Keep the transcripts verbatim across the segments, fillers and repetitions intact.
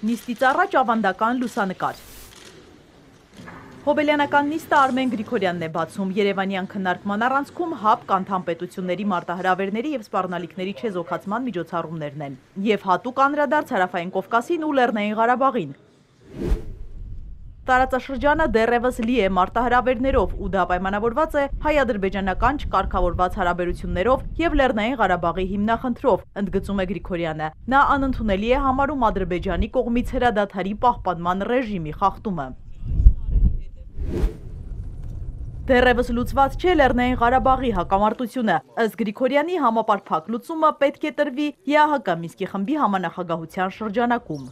Նիստից առաջ ավանդական լուսանկար։ Հոբելյանական նիստը Արմեն Գրիգորյանն է բացում։ Երևանյան քննարկման առանցքում ՀԱՊԿ անդամ պետությունների մարտահրավերների և սպառնալիքների չեզոքացման միջոցառումներն են և հատուկ անդրադարձ Հարավային Կովկասին ու Լեռնային Ղարաբաղին։ Տարածաշրջանը դեռևս լի է մարտահրավերներով ու դա պայմանավորված է հայ-ադրբեջանական չկարգավորված հարաբերություններով և Լեռնային Ղարաբաղի հիմնախնդրով, ընդգծում է Գրիգորյանը։ Նա անընդունելի է համարում Ադրբեջանի կողմից հրադադարի պահպանման ռեժիմի խախտումը։ Դեռևս լուծված չէ Լեռնային Ղարաբաղի հակամարտությունը։ Ըստ Գրիգորյանի համապարփակ լուծումը պետք է տրվի ԵԱՀԿ Մինսկի խմբի համանախագահության շրջանակում։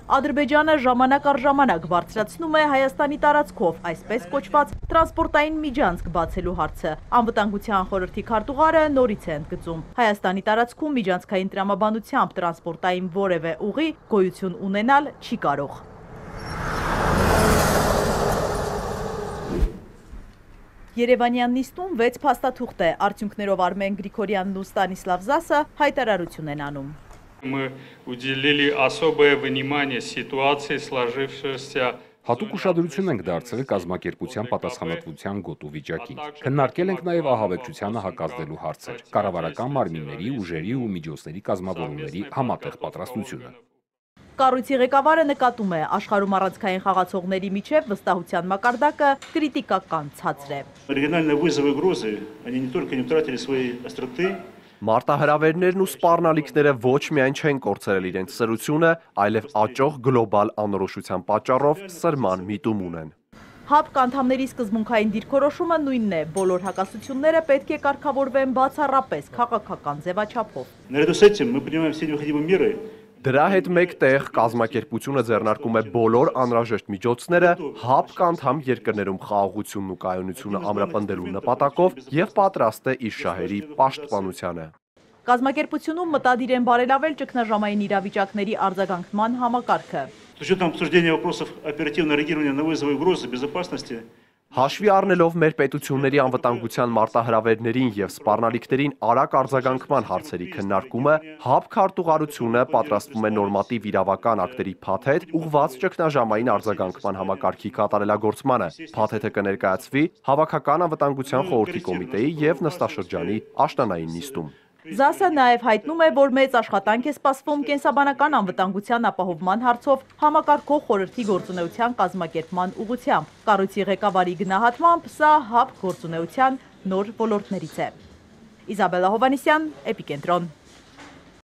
Ադրբեջանը ժամանակ առ ժամանակ բարձրացնում է Հայաստանի տարածքով այսպես կոչված տրանսպորտային միջանցք բացելու հարցը։ Անվտանգության խորհրդի քարտուղարը նորից է ընդգծում. Հայաստանի տարածքում միջանցքային տրամաբանությամբ տրանսպորտային որևէ ուղի գոյություն ունենալ չի կարող։ Երևանյան նիստում վեց փաստաթուղթ է, արդյունքներով Արմեն Գրիգորյանն ու Ստանիսլավ Զասը հայտարարություն են անում։ Мы уделили особое внимание ситуации, сложившейся. Հատուկ ուշադրություն ենք դարձրել կազմակերպության պատասխանատվության գոտու վիճակին։ Քննարկել ենք նաև ահաբեկչությանը հակազդելու հարցեր, կառավարական մարմինների, ուժերի ու միջոցների կազմավորումների համատեղ պատրաստությունը։ Կառույցի ղեկավարը նկատում է, աշխարհում առանցքային խաղացողների միջև վստահության մակարդակը կրիտիկական ցածր է։ Региональные вызовы и угрозы, они не только не утратили своей остроты. Մարտահրավերներն ու սպառնալիքները ոչ միայն չեն կորցրել իրենց սրությունը, այլև աճող գլոբալ անորոշության պատճառով սրման միտում ունեն։ ՀԱՊԿ անդամների սկզբունքային դիրքորոշումը նույնն է, բոլոր հակասությունները պետք է կարգավորվեն բացառապես քաղաքական ձևաչափով։ Наряду с этим мы принимаем все необходимые меры. Դրա հետ մեկտեղ կազմակերպությունը ձեռնարկում է բոլոր անհրաժեշտ միջոցները ՀԱՊԿ անդամ երկրներում խաղաղությունն ու կայունությունը ամրապնդելու նպատակով եւ պատրաստ է իր շահերի պաշտպանությանը։ Կազմակերպությունում մտադիր են բարելավել ճգնաժամային իրավիճակների արձագանքման համակարգը։ С учетом обсуждения вопросов оперативного реагирования на вызовы и угрозы безопасности. Հաշվի առնելով մեր պետությունների անվտանգության մարտահրավերներին և սպառնալիքներին արագ արձագանքման հարցերի քննարկումը, ՀԱՊԿ քարտուղարությունը պատրաստվում է նորմատիվ իրավական ակտերի փաթեթ ուղղված ճգնաժամային արձագանքման համակարգի կատարելագործմանը։ Փաթեթը կներկայացվի Հավաքական անվտանգության խորհրդի կոմիտեի և նստաշրջանի աշնանային նիստում։ Զասը նաև հայտնում է, որ մեծ աշխատանք է սպասվում կենսաբանական անվտանգության ապահովման հարցով համակարգող խորհրդի գործունեության կազմակերպման ուղղությամբ։ Կառույցի ղեկավարի գնահատմամբ սա ՀԱՊԿ գործունեության նոր ոլորտներից է։ Իզաբելլա Հովհաննիսյան, Էպիկենտրոն։